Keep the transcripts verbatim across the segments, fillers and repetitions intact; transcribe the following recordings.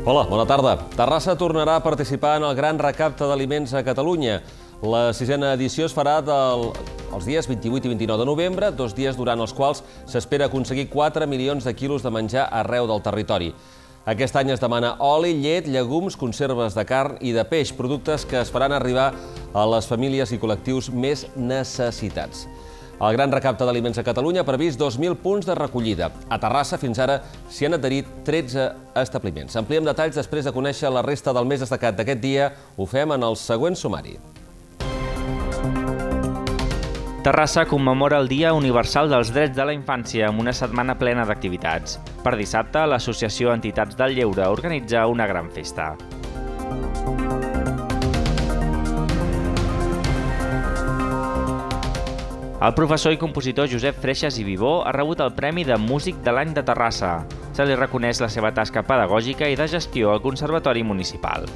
Hola, bona tarda. Terrassa tornarà a participar en el Gran Recapte d'Aliments a Catalunya. La sisena edició es farà del, els dies vint-i-vuit i vint-i-nou de novembre, dos dies durant els quals s'espera aconseguir quatre milions de quilos de menjar arreu del territori. Aquest any es demana oli, llet, llegums, conserves de carn i de peix, productes que es faran arribar a les famílies i col·lectius més necessitats. El Gran Recapte d'Aliments a Catalunya ha previst dos mil punts de recollida. A Terrassa, fins ara, s'hi han adherit tretze establiments. Ampliem detalls després de conèixer la resta del més destacat d'aquest dia. Ho fem en el següent sumari. Terrassa commemora el Dia Universal dels Drets de la Infància amb una setmana plena d'activitats. Per dissabte, l'Associació Entitats del Lleure organitza una gran festa. El professor i compositor Josep Freixas i Vivó ha rebut el Premi de Músic de l'Any de Terrassa. Se li reconeix la seva tasca pedagògica i de gestió al Conservatori Municipal.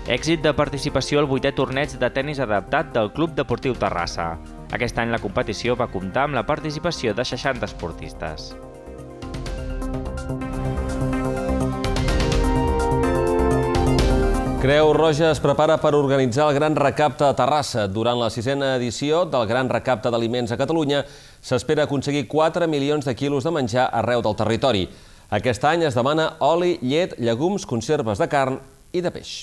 Èxit de participació al vuitè torneig de tennis adaptat del Club Deportiu Terrassa. Aquest any la competició va comptar amb la participació de seixanta esportistes. Creu Roja es prepara per organitzar el Gran Recapte a Terrassa. Durant la sisena edició del Gran Recapte d'Aliments a Catalunya s'espera aconseguir quatre milions de quilos de menjar arreu del territori. Aquest any es demana oli, llet, llegums, conserves de carn i de peix.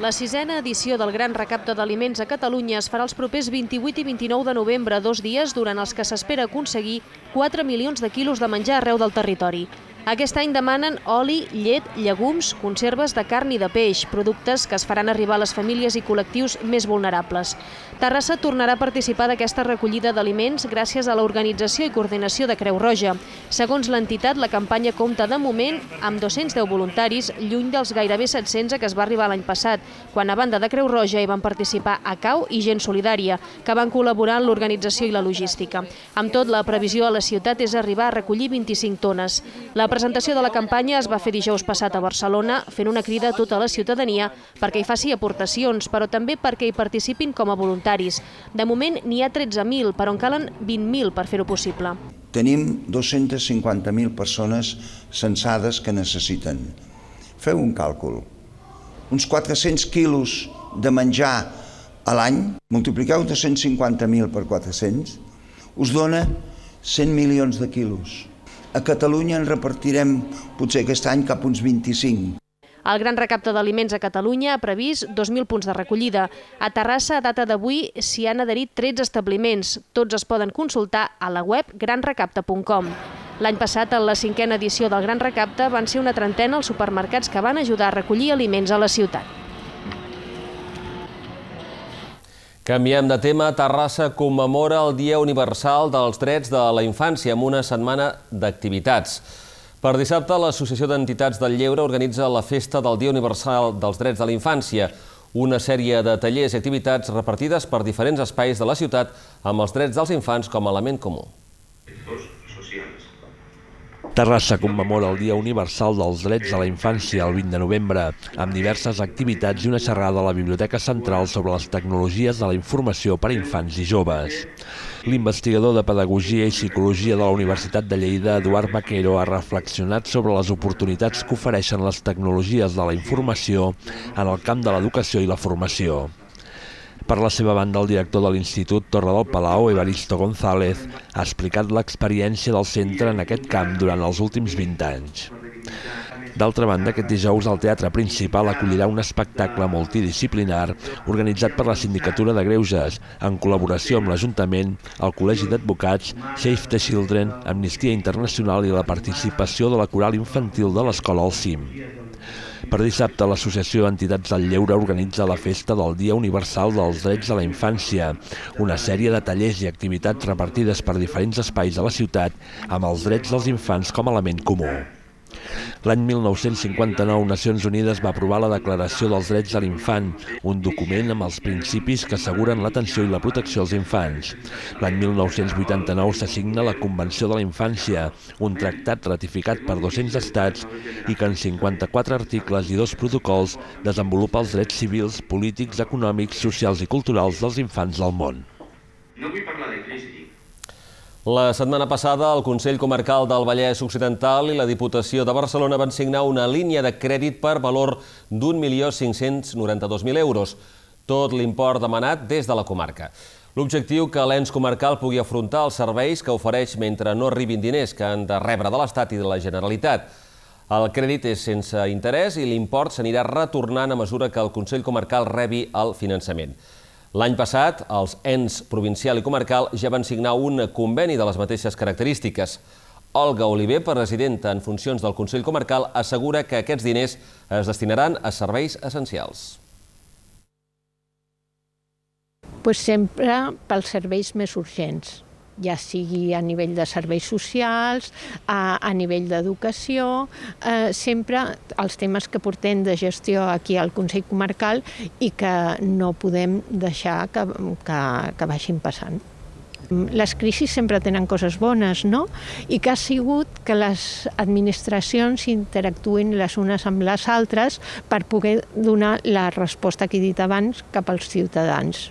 La sisena edició del Gran Recapte d'Aliments a Catalunya es farà els propers vint-i-vuit i vint-i-nou de novembre, dos dies durant els que s'espera aconseguir quatre milions de quilos de menjar arreu del territori. Aquest any demanen oli, llet, llegums, conserves de carn i de peix, productes que es faran arribar a les famílies i col·lectius més vulnerables. Terrassa tornarà a participar d'aquesta recollida d'aliments gràcies a l'organització i coordinació de Creu Roja. Segons l'entitat, la campanya compta de moment amb dos-cents deu voluntaris, lluny dels gairebé set-cents que es va arribar l'any passat, quan a banda de Creu Roja hi van participar A C A U i Gent Solidària, que van col·laborar en l'organització i la logística. Amb tot, la previsió a la ciutat és arribar a recollir vint-i-cinc tones. La presentació de la campanya es va fer dijous passat a Barcelona, fent una crida a tota la ciutadania perquè hi faci aportacions, però també perquè hi participin com a voluntaris. De moment n'hi ha tretze mil, però en calen vint mil per fer-ho possible. Tenim dos-centes cinquanta mil persones censades que necessiten. Feu un càlcul. Uns quatre-cents quilos de menjar a l'any, multipliqueu dos-cents cinquanta mil per quatre-cents, us dona cent milions de quilos. A Catalunya en repartirem potser aquest any cap uns vint-i-cinc. El Gran Recapte d'Aliments a Catalunya ha previst dos mil punts de recollida. A Terrassa, a data d'avui, s'hi han adherit tretze establiments. Tots es poden consultar a la web gran recapte punt com. L'any passat, en la cinquena edició del Gran Recapte, van ser una trentena els supermercats que van ajudar a recollir aliments a la ciutat. Canviem de tema. Terrassa commemora el Dia Universal dels Drets de la Infància amb una setmana d'activitats. Per dissabte, l'Associació d'Entitats del Lleure organitza la Festa del Dia Universal dels Drets de la Infància, una sèrie de tallers i activitats repartides per diferents espais de la ciutat amb els drets dels infants com a element comú. Terrassa commemora el Dia Universal dels Drets de la Infància el vint de novembre, amb diverses activitats i una xerrada a la Biblioteca Central sobre les tecnologies de la informació per a infants i joves. L'investigador de Pedagogia i Psicologia de la Universitat de Lleida, Eduard Vaquero, ha reflexionat sobre les oportunitats que ofereixen les tecnologies de la informació en el camp de l'educació i la formació. Per la seva banda, el director de l'Institut Torre del Palau, Evaristo González, ha explicat l'experiència del centre en aquest camp durant els últims vint anys. D'altra banda, aquest dijous el Teatre Principal acollirà un espectacle multidisciplinar organitzat per la Sindicatura de Greuges, en col·laboració amb l'Ajuntament, el Col·legi d'Advocats, Save the Children, Amnistia Internacional i la participació de la coral infantil de l'Escola El Cim. Per dissabte, l'Associació Entitats del Lleure organitza la Festa del Dia Universal dels Drets de la Infància, una sèrie de tallers i activitats repartides per diferents espais de la ciutat amb els drets dels infants com a element comú. L'any mil nou-cents cinquanta-nou, Nacions Unides va aprovar la Declaració dels Drets de l'Infant, un document amb els principis que asseguren l'atenció i la protecció als infants. L'any mil nou-cents vuitanta-nou s'assigna la Convenció de la Infància, un tractat ratificat per dos-cents estats i que en cinquanta-quatre articles i dos protocols desenvolupa els drets civils, polítics, econòmics, socials i culturals dels infants del món. No vull parlar de crisi. La setmana passada, el Consell Comarcal del Vallès Occidental i la Diputació de Barcelona van signar una línia de crèdit per valor d'un milió cinc-cents noranta-dos mil euros, tot l'import demanat des de la comarca. L'objectiu que l'ens comarcal pugui afrontar els serveis que ofereix mentre no arribin diners que han de rebre de l'Estat i de la Generalitat. El crèdit és sense interès i l'import s'anirà retornant a mesura que el Consell Comarcal rebi el finançament. L'any passat, els ens provincial i comarcal ja van signar un conveni de les mateixes característiques. Olga Oliver, presidenta en funcions del Consell Comarcal, assegura que aquests diners es destinaran a serveis essencials. Pues sempre pels serveis més urgents, ja sigui a nivell de serveis socials, a, a nivell d'educació, eh, sempre els temes que portem de gestió aquí al Consell Comarcal i que no podem deixar que, que, que vagin passant. Les crisis sempre tenen coses bones, no? I que ha sigut que les administracions interactuïn les unes amb les altres per poder donar la resposta que he dit abans cap als ciutadans.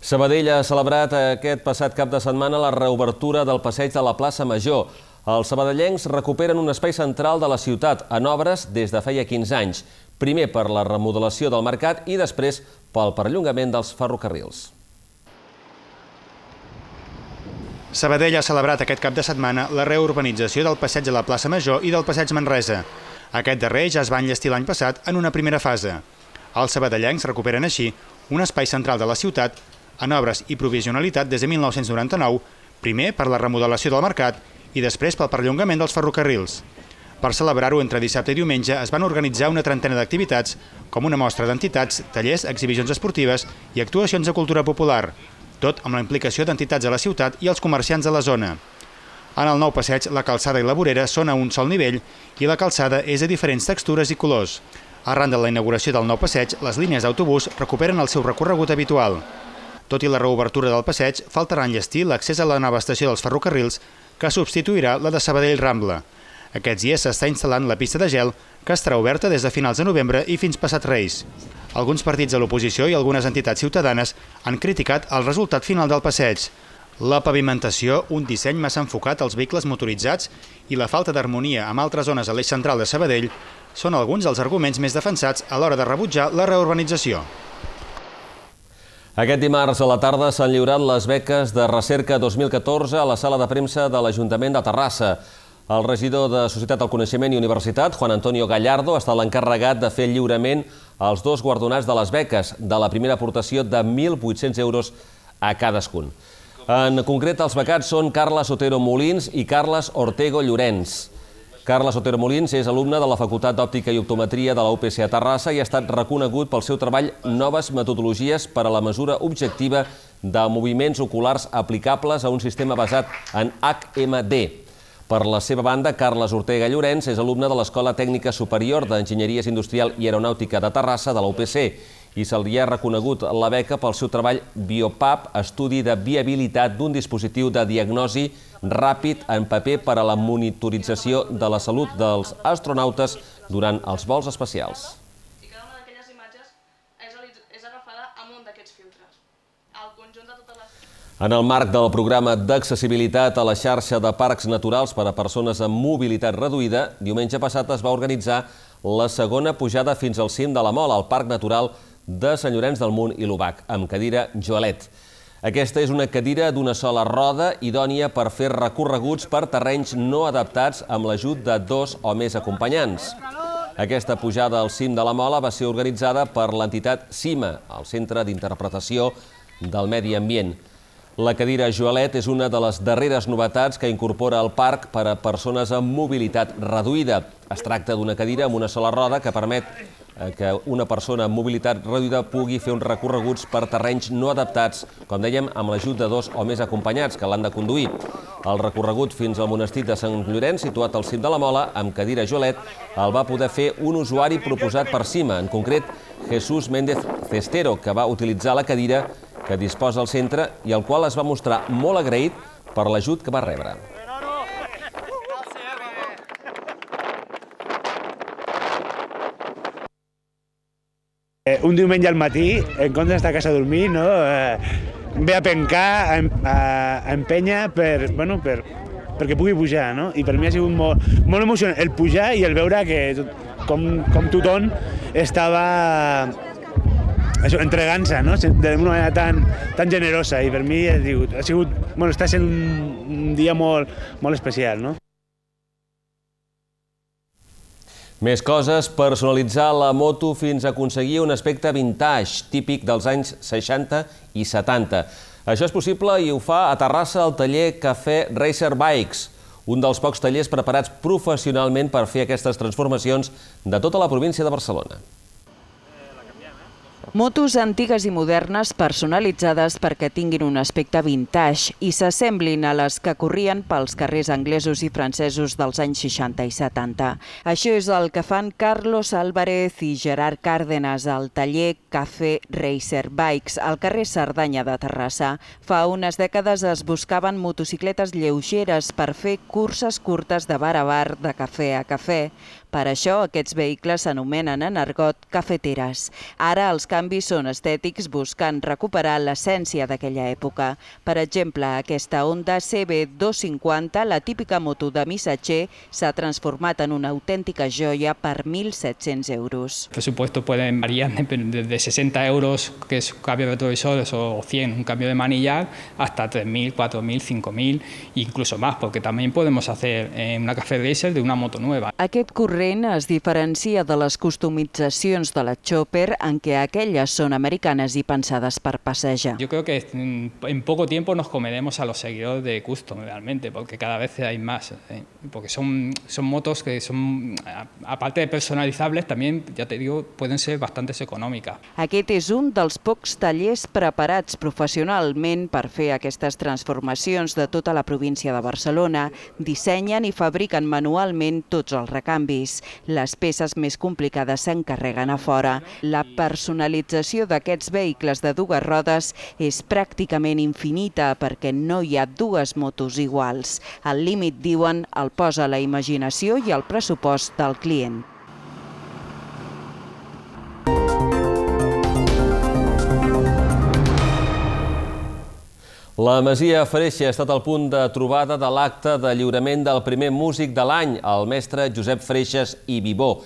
Sabadell ha celebrat aquest passat cap de setmana la reobertura del passeig de la plaça Major. Els sabadellencs recuperen un espai central de la ciutat en obres des de feia quinze anys, primer per la remodelació del mercat i després pel perllongament dels ferrocarrils. Sabadell ha celebrat aquest cap de setmana la reurbanització del passeig de la plaça Major i del passeig Manresa. Aquest darrer ja es va enllestir l'any passat en una primera fase. Els sabadellencs recuperen així un espai central de la ciutat en obres i provisionalitat des de mil nou-cents noranta-nou, primer per la remodelació del mercat i després pel perllongament dels ferrocarrils. Per celebrar-ho entre dissabte i diumenge es van organitzar una trentena d'activitats, com una mostra d'entitats, tallers, exhibicions esportives i actuacions de cultura popular, tot amb la implicació d'entitats de la ciutat i els comerciants de la zona. En el nou passeig, la calçada i la vorera són a un sol nivell i la calçada és de diferents textures i colors. Arran de la inauguració del nou passeig, les línies d'autobús recuperen el seu recorregut habitual. Tot i la reobertura del passeig, faltarà enllestir l'accés a la nova estació dels ferrocarrils, que substituirà la de Sabadell Rambla. Aquests dies s'està instal·lant la pista de gel, que estarà oberta des de finals de novembre i fins passat Reis. Alguns partits de l'oposició i algunes entitats ciutadanes han criticat el resultat final del passeig. La pavimentació, un disseny massa enfocat als vehicles motoritzats i la falta d'harmonia amb altres zones a l'eix central de Sabadell són alguns dels arguments més defensats a l'hora de rebutjar la reurbanització. Aquest dimarts a la tarda s'han lliurat les beques de recerca dos mil catorze a la sala de premsa de l'Ajuntament de Terrassa. El regidor de Societat del Coneixement i Universitat, Juan Antonio Gallardo, ha estat l'encarregat de fer el lliurament als dos guardonats de les beques, de la primera aportació de mil vuit-cents euros a cadascun. En concret, els becats són Carles Otero Molins i Carles Ortego Llorenç. Carles Otero Molins és alumne de la Facultat d'Òptica i Optometria de la U P C a Terrassa i ha estat reconegut pel seu treball Noves metodologies per a la mesura objectiva de moviments oculars aplicables a un sistema basat en H M D. Per la seva banda, Carles Ortega Llorenç és alumne de l'Escola Tècnica Superior d'Enginyeries Industrial i Aeronàutica de Terrassa de la U P C i se li ha reconegut la beca pel seu treball BioPAP, estudi de viabilitat d'un dispositiu de diagnosi ràpid en paper per a la monitorització de la salut dels astronautes durant els vols espacials. I cada una d'aquelles imatges és agafada amb un d'aquests filtres. El conjunt de totes les... En el marc del programa d'accessibilitat a la xarxa de parcs naturals per a persones amb mobilitat reduïda, diumenge passat es va organitzar la segona pujada fins al cim de la Mola, al Parc Natural de Sant Llorenç del Munt i l'Obac, amb cadira Joalet. Aquesta és una cadira d'una sola roda idònia per fer recorreguts per terrenys no adaptats amb l'ajut de dos o més acompanyants. Aquesta pujada al cim de la Mola va ser organitzada per l'entitat CIMA, el Centre d'Interpretació del Medi Ambient. La cadira Joalet és una de les darreres novetats que incorpora el parc per a persones amb mobilitat reduïda. Es tracta d'una cadira amb una sola roda que permet que una persona amb mobilitat reduïda pugui fer uns recorreguts per terrenys no adaptats, com dèiem, amb l'ajut de dos o més acompanyats que l'han de conduir. El recorregut fins al monestir de Sant Llorenç, situat al cim de la Mola, amb cadira Joalet, el va poder fer un usuari proposat per CIMA, en concret Jesús Méndez Cestero, que va utilitzar la cadira que disposa al centre i el qual es va mostrar molt agraït per l'ajut que va rebre. Un diumenge al matí, en comptes d'estar a casa a dormir, no? ve a pencar, a, a empènyer per, bueno, per, perquè pugui pujar, no? I per mi ha sigut molt, molt emocionant el pujar i el veure que tot, com, com tothom estava entregant-se, no? D'una manera tan, tan generosa, i per mi ha sigut, ha sigut bueno, està sent un, un dia molt, molt especial, no? Més coses, personalitzar la moto fins a aconseguir un aspecte vintage, típic dels anys seixanta i setanta. Això és possible i ho fa a Terrassa el taller Cafè Racer Bikes, un dels pocs tallers preparats professionalment per fer aquestes transformacions de tota la província de Barcelona. Motos antigues i modernes personalitzades perquè tinguin un aspecte vintage i s'assemblin a les que corrien pels carrers anglesos i francesos dels anys seixanta i setanta. Això és el que fan Carlos Álvarez i Gerard Cárdenas al taller Cafè Racer Bikes al carrer Cerdanya de Terrassa. Fa unes dècades es buscaven motocicletes lleugeres per fer curses curtes de bar a bar, de cafè a cafè. Per això, aquests vehicles s'anomenen en argot cafeteres. Ara els canvis són estètics buscant recuperar l'essència d'aquella època. Per exemple, aquesta Honda C B dos cinquanta, la típica moto de missatger, s'ha transformat en una autèntica joia per mil set-cents euros. El presupuesto puede variar desde sesenta euros, que es cambio de retrovisores, o cien, un cambio de manillar, hasta tres mil, cuatro mil, cinco mil, incluso más, porque también podemos hacer una Cafè Racer de una moto nueva. Aquest corrent es diferencia de les customitzacions de la Chopper, en què aquelles són americanes i pensades per passejar. Yo creo que en poco tiempo nos comeremos a los seguidores de Custom realmente, porque cada vez hay más, ¿eh? Porque son, son motos que son, aparte de personalizables, también, ya te digo, pueden ser bastante econòmiques. Aquest és un dels pocs tallers preparats professionalment per fer aquestes transformacions de tota la província de Barcelona. Dissenyen i fabriquen manualment tots els recanvis. Les peces més complicades s'encarreguen a fora. La personalització d'aquests vehicles de dues rodes és pràcticament infinita perquè no hi ha dues motos iguals. El límit, diuen, el posa la imaginació i el pressupost del client. La Masia Freixa ha estat el punt de trobada de l'acte de lliurament del primer músic de l'any, el mestre Josep Freixas i Vivó.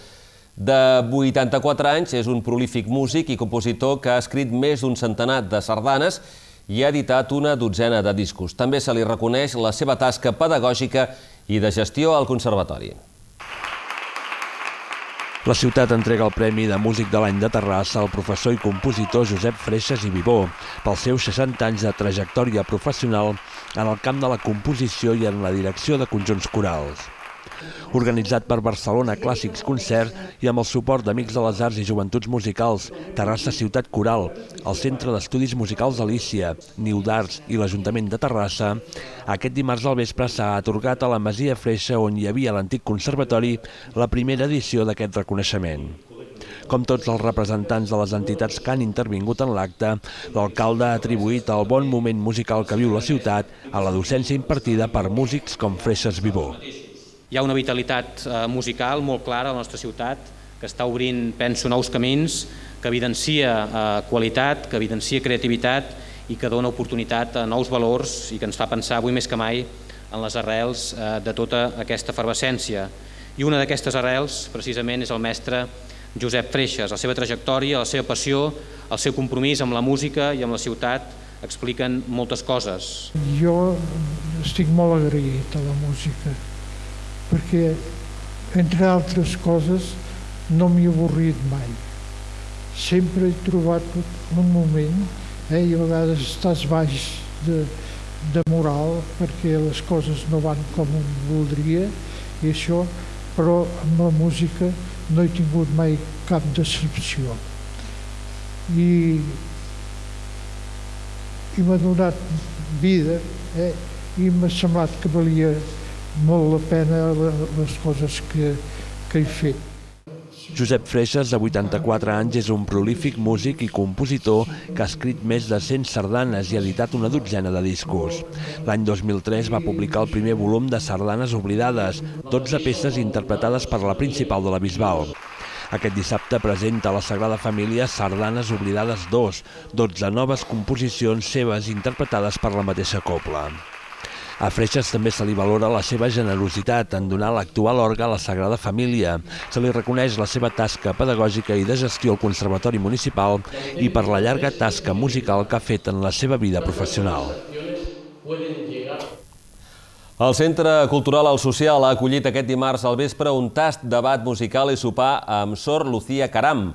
De vuitanta-quatre anys, és un prolífic músic i compositor que ha escrit més d'un centenar de sardanes i ha editat una dotzena de discos. També se li reconeix la seva tasca pedagògica i de gestió al conservatori. La ciutat entrega el Premi de Músic de l'Any de Terrassa al professor i compositor Josep Freixas i Vivó pels seus seixanta anys de trajectòria professional en el camp de la composició i en la direcció de conjunts corals. Organitzat per Barcelona Clàssics Concert i amb el suport d'Amics de les Arts i Joventuts Musicals, Terrassa Ciutat Coral, el Centre d'Estudis Musicals Alícia, Niu d'Arts i l'Ajuntament de Terrassa, aquest dimarts al vespre s'ha atorgat a la Masia Freixa, on hi havia l'antic conservatori, la primera edició d'aquest reconeixement. Com tots els representants de les entitats que han intervingut en l'acte, l'alcalde ha atribuït el bon moment musical que viu la ciutat a la docència impartida per músics com Freixas Vivó. Hi ha una vitalitat musical molt clara a la nostra ciutat, que està obrint, penso, nous camins, que evidencia qualitat, que evidencia creativitat i que dona oportunitat a nous valors i que ens fa pensar avui més que mai en les arrels de tota aquesta efervescència. I una d'aquestes arrels, precisament, és el mestre Josep Freixas. La seva trajectòria, la seva passió, el seu compromís amb la música i amb la ciutat expliquen moltes coses. Jo estic molt agraït a la música, perquè, entre altres coses, no m'he avorrit mai. Sempre he trobat un moment, eh, i a vegades estàs baix de, de moral, perquè les coses no van com un voldria, i això, però amb la música no he tingut mai cap decepció. I, i m'ha donat vida, eh, i m'ha semblat que valia molt la pena les coses que, que he fet. Josep Freixas, de vuitanta-quatre anys, és un prolífic músic i compositor que ha escrit més de cent sardanes i ha editat una dotzena de discos. L'any dos mil tres va publicar el primer volum de Sardanes oblidades, dotze peces interpretades per la Principal de la Bisbal. Aquest dissabte presenta a la Sagrada Família Sardanes Oblidades dos, dotze noves composicions seves interpretades per la mateixa cobla. A Freixas també se li valora la seva generositat en donar l'actual orgue a la Sagrada Família. Se li reconeix la seva tasca pedagògica i de gestió al Conservatori Municipal i per la llarga tasca musical que ha fet en la seva vida professional. El Centre Cultural El Social ha acollit aquest dimarts al vespre un tast, debat musical i sopar amb Sor Lucía Caram.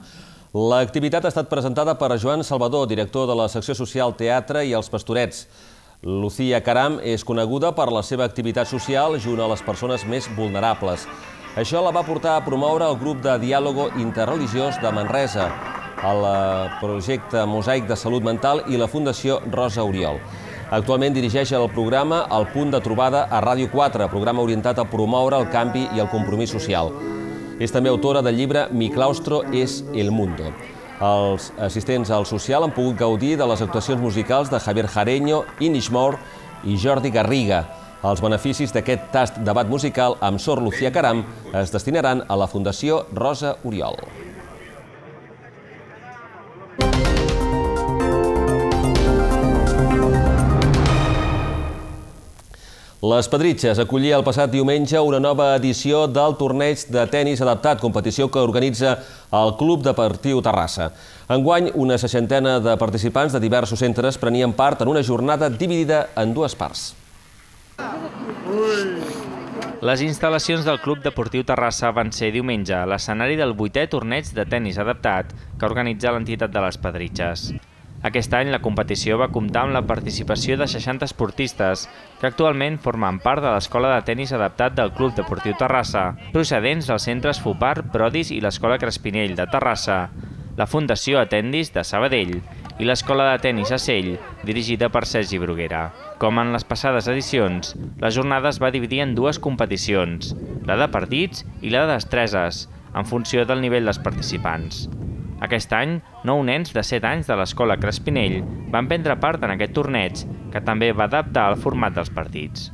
L'activitat ha estat presentada per Joan Salvador, director de la secció social Teatre i els Pastorets. Lucía Caram és coneguda per la seva activitat social junt a les persones més vulnerables. Això la va portar a promoure el grup de diàlogo interreligiós de Manresa, el projecte Mosaic de Salut Mental i la Fundació Rosa Oriol. Actualment dirigeix el programa El Punt de Trobada a Ràdio quatre, programa orientat a promoure el canvi i el compromís social. És també autora del llibre Mi claustro es el mundo. Els assistents al social han pogut gaudir de les actuacions musicals de Javier Jareño, Inish Moore i Jordi Garriga. Els beneficis d'aquest tast debat musical amb Sor Lucía Caram es destinaran a la Fundació Rosa Oriol. Les Pedritxes acollia el passat diumenge una nova edició del torneig de tenis adaptat, competició que organitza el Club Deportiu Terrassa. Enguany, una seixantena de participants de diversos centres prenien part en una jornada dividida en dues parts. Les instal·lacions del Club Deportiu Terrassa van ser diumenge l'escenari del vuitè torneig de tenis adaptat que organitza l'entitat de les Pedritxes. Aquest any la competició va comptar amb la participació de seixanta esportistes que actualment formen part de l'Escola de Tenis Adaptat del Club Deportiu Terrassa, procedents dels centres Fupar, Prodis i l'Escola Crespinell de Terrassa, la Fundació Atendis de Sabadell i l'Escola de Tenis Acell, dirigida per Sergi Bruguera. Com en les passades edicions, la jornada es va dividir en dues competicions, la de partits i la de destreses, en funció del nivell dels participants. Aquest any, nou nens de set anys de l'Escola Crespinell van prendre part en aquest torneig, que també va adaptar el format dels partits.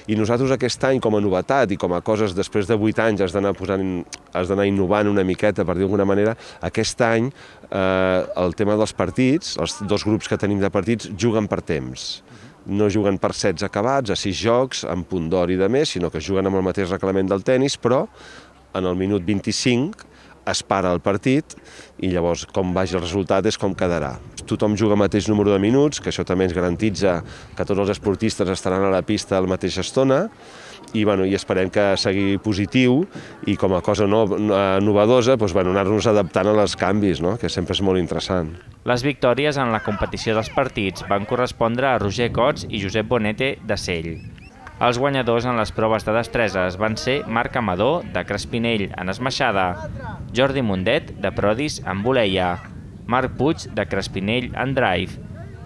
I nosaltres aquest any, com a novetat i com a coses després de vuit anys has d'anar posant, has d'anar innovant una miqueta, per dir d'alguna manera, aquest any eh, el tema dels partits, els dos grups que tenim de partits, juguen per temps. No juguen per sets acabats, a sis jocs, amb punt d'or i de més, sinó que juguen amb el mateix reglament del tennis, però en el minut vint-i-cinc es para el partit i llavors com vagi el resultat és com quedarà. Tothom juga el mateix número de minuts, que això també ens garantitza que tots els esportistes estaran a la pista a la mateixa estona i, bueno, i esperem que sigui positiu i com a cosa no, novedosa doncs, bueno, anar-nos adaptant als canvis, no? Que sempre és molt interessant. Les victòries en la competició dels partits van correspondre a Roger Cots i Josep Bonete de Sell. Els guanyadors en les proves de destreses van ser Marc Amador, de Crespinell, en esmaixada, Jordi Mundet, de Prodis, en voleia, Marc Puig, de Crespinell, en drive,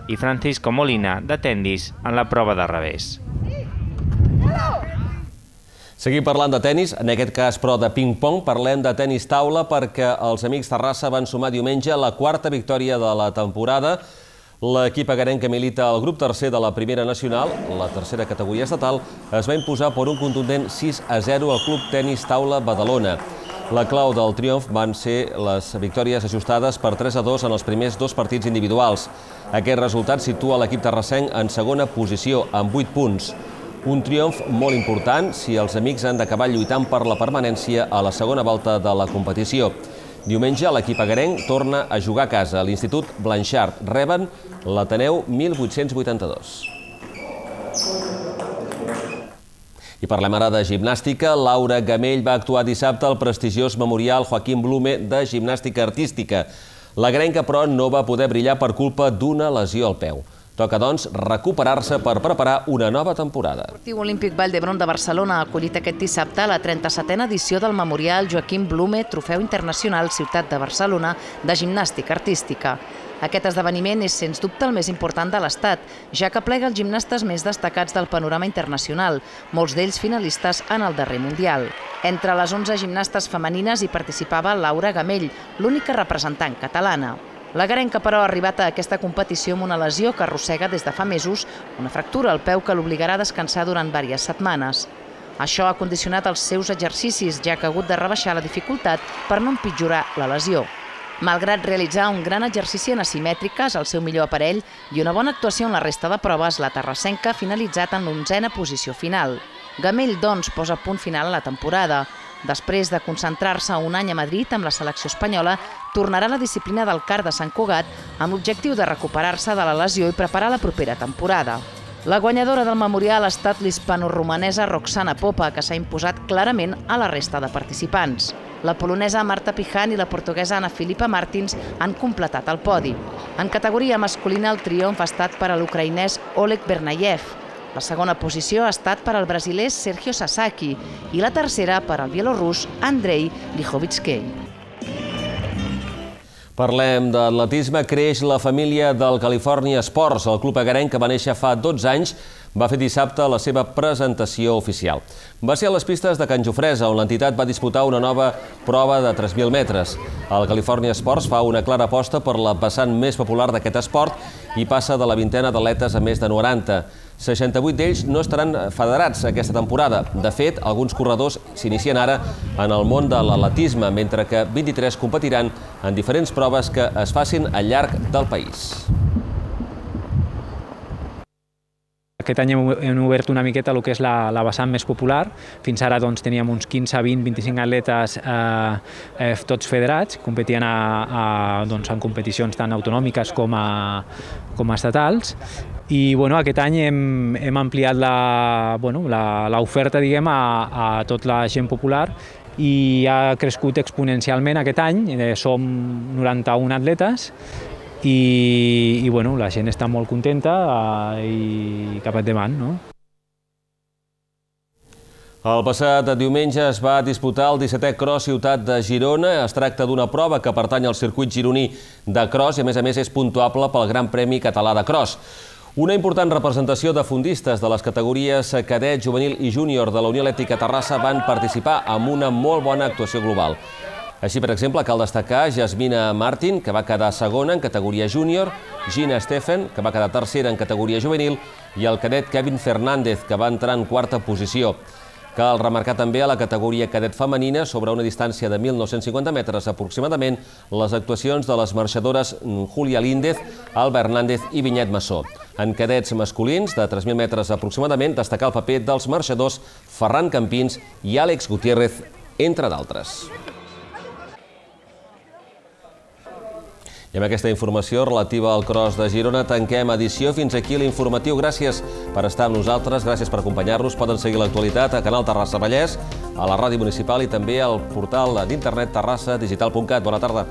i Francisco Molina, de Tendis, en la prova de revés. Seguim parlant de tenis, en aquest cas però de ping-pong, parlem de tenis taula perquè els amics Terrassa van sumar diumenge la quarta victòria de la temporada. L'equip agarenc que milita al grup tercer de la Primera Nacional, la tercera categoria estatal, es va imposar per un contundent sis a zero al Club Tenis Taula Badalona. La clau del triomf van ser les victòries ajustades per tres a dos en els primers dos partits individuals. Aquest resultat situa l'equip terrassenc en segona posició, amb vuit punts. Un triomf molt important si els amics han d'acabar lluitant per la permanència a la segona volta de la competició. Diumenge l'equip agarenc torna a jugar a casa. A l'Institut Blanchard reben l'Ateneu mil vuit-cents vuitanta-dos. I parlem ara de gimnàstica. Laura Gamell va actuar dissabte al prestigiós Memorial Joaquim Blume de gimnàstica artística. L'agarenca, però, no va poder brillar per culpa d'una lesió al peu. Toca, doncs, recuperar-se per preparar una nova temporada. L'Esportiu Olímpic Vall d'Hebron de Barcelona ha acollit aquest dissabte la trenta-setena edició del Memorial Joaquim Blume Trofeu Internacional Ciutat de Barcelona de gimnàstica artística. Aquest esdeveniment és, sens dubte, el més important de l'Estat, ja que plega els gimnastes més destacats del panorama internacional, molts d'ells finalistes en el darrer Mundial. Entre les onze gimnastes femenines hi participava Laura Gamell, l'única representant catalana. L'agarenca, però, ha arribat a aquesta competició amb una lesió que arrossega des de fa mesos, una fractura al peu que l'obligarà a descansar durant diverses setmanes. Això ha condicionat els seus exercicis, ja que ha hagut de rebaixar la dificultat per no empitjorar la lesió. Malgrat realitzar un gran exercici en asimètriques, el seu millor aparell i una bona actuació en la resta de proves, la terrassenca ha finalitzat en l'onzena posició final. Gamell, doncs, posa punt final a la temporada. Després de concentrar-se un any a Madrid amb la selecció espanyola, tornarà a la disciplina del kart de Sant Cugat amb l'objectiu de recuperar-se de la lesió i preparar la propera temporada. La guanyadora del memorial ha estat l'hispano-romanesa Roxana Popa, que s'ha imposat clarament a la resta de participants. La polonesa Marta Pijan i la portuguesa Ana Filipa Martins han completat el podi. En categoria masculina, el triomf ha estat per a l'ucraïnès Oleg Bernayev. La segona posició ha estat per al brasiler Sergio Sasaki i la tercera per al bielorrus Andrei Lichovitskei. Parlem d'atletisme. Creix la família del California Sports. El club agarenc, que va néixer fa dotze anys, va fer dissabte la seva presentació oficial. Va ser a les pistes de Can Jofresa, on l'entitat va disputar una nova prova de tres mil metres. El California Sports fa una clara aposta per la vessant més popular d'aquest esport i passa de la vintena d'atletes a més de noranta. seixanta-vuit d'ells no estaran federats aquesta temporada. De fet, alguns corredors s'inicien ara en el món de l'atletisme, mentre que vint-i-tres competiran en diferents proves que es facin al llarg del país. Aquest any hem obert una miqueta el que és la, la vessant més popular. Fins ara doncs, teníem uns quinze, vint, vint-i-cinc atletes eh, eh, tots federats, competien a, a, doncs, en competicions tant autonòmiques com, a, com a estatals. I bueno, aquest any hem, hem ampliat l'oferta bueno, diguem, a, a tota la gent popular i ha crescut exponencialment aquest any. Eh, som noranta-un atletes i, i bueno, la gent està molt contenta eh, i cap endavant, no? El passat diumenge es va disputar el dissetè Cross Ciutat de Girona. Es tracta d'una prova que pertany al circuit gironí de cross i, a més a més, és puntuable pel Gran Premi Català de Cross. Una important representació de fondistes de les categories cadet, juvenil i júnior de la Unió Atlètica Terrassa van participar amb una molt bona actuació global. Així, per exemple, cal destacar Jasmina Martin, que va quedar segona en categoria júnior, Gina Steffen, que va quedar tercera en categoria juvenil, i el cadet Kevin Fernández, que va entrar en quarta posició. Cal remarcar també a la categoria cadet femenina, sobre una distància de mil nou-cents cinquanta metres aproximadament, les actuacions de les marxadores Júlia Líndez, Alba Hernández i Vinyet Massó. En cadets masculins, de tres mil metres aproximadament, destacar el paper dels marxadors Ferran Campins i Àlex Gutiérrez, entre d'altres. I amb aquesta informació relativa al Cross de Girona tanquem edició. Fins aquí l'informatiu. Gràcies per estar amb nosaltres, gràcies per acompanyar-nos. Poden seguir l'actualitat a Canal Terrassa Vallès, a la ràdio municipal i també al portal d'internet terrassa digital punt cat. Bona tarda.